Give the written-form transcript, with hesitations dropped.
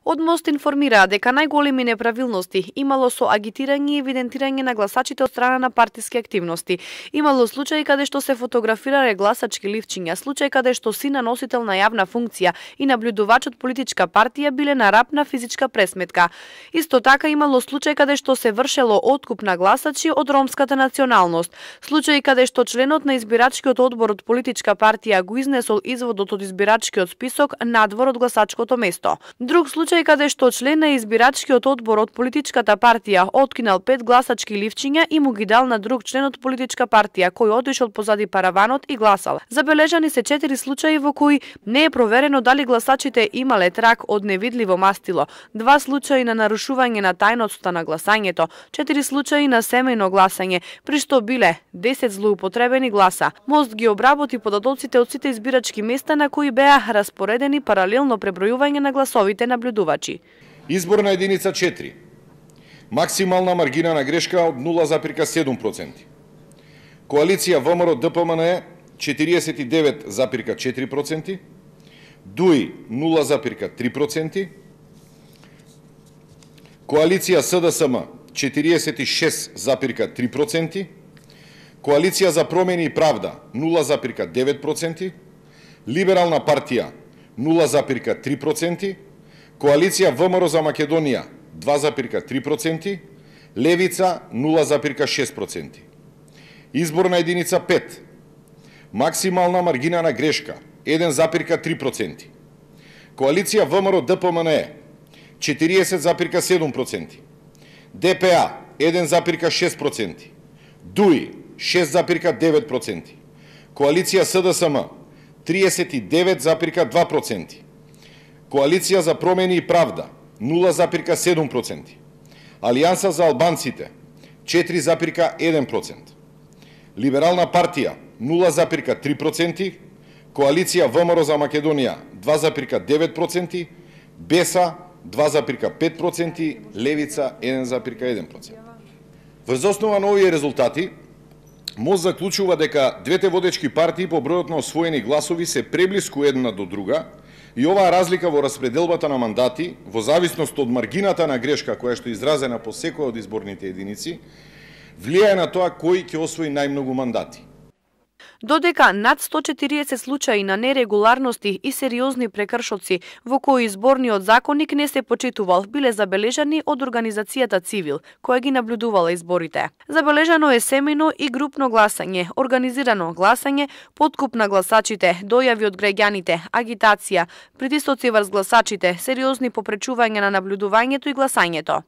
Од МОСТ информираа дека најголеми неправилности имало со агитирање и евидентирање на гласачите од страна на партиски активности. Имало случаи каде што се фотографирале гласачки ливчиња, случаи каде што сина носител на јавна функција и наблюдувач од политичка партија биле на рап на физичка пресметка. Исто така имало случаи каде што се вршело откуп на гласачи од ромската националност. Случаи каде што членот на избирачкиот одбор од политичка партија го изнесол изводот од избирачкиот список надвор од гласачкото место. Друг случај каде што член на избирачкиот одбор од политичката партија откинал 5 гласачки ливчиња и му ги дал на друг член од политичка партија кој отишол позади параванот и гласал. Забележани се 4 случаи во кои не е проверено дали гласачите имале трак од невидливо мастило, 2 случаи на нарушување на тајноста на гласањето, 4 случаи на семејно гласање, при што биле 10 злоупотребени гласа. МОСТ ги обработи податоците од сите избирачки места на кои беа распоредени паралелно пребројување на гласовите наблюдувачи. Изборна единица 4. Максимална маргина на грешка од 0,7%. Коалиција ВМРО ДПМН 49,4%, ДУИ 0,3%, Коалиција СДСМ 46,3%, Коалиција за промени и правда 0,9%, Либерална партија 0,3%, Коалиција ВМРО за Македонија 2,3%, Левица 0,6%. Изборна единица 5. Максимална маргина на грешка 1,3%. Коалиција ВМРО ДПМН 40,7%. ДПА 1,6%. ДУИ 6,9%. Коалиција СДСМ 39,2%. Коалиција за промени и правда 0,7%. Алијанса за албанците 4,1%. Либерална партија 0,3%, Коалиција ВМРО за Македонија 2,9%, БЕСА 2,5%, Левица 1,1%. Врз основа на овие резултати, МОСТ заклучува дека двете водечки партии по бројот на освоени гласови се преблиску една до друга и оваа разлика во распределбата на мандати, во зависност од маргината на грешка која што е изразена по секој од изборните единици, влијае на тоа кој ќе освои најмногу мандати. Додека над 140 случаи на нерегуларности и сериозни прекршоци во кои изборниот законник не се почитувал биле забележани од организацијата Цивил, која ги наблюдувала изборите. Забележано е семејно и групно гласање, организирано гласање, подкуп на гласачите, дојави од граѓаните, агитација, притисоци врз гласачите, сериозни попречувања на наблюдувањето и гласањето.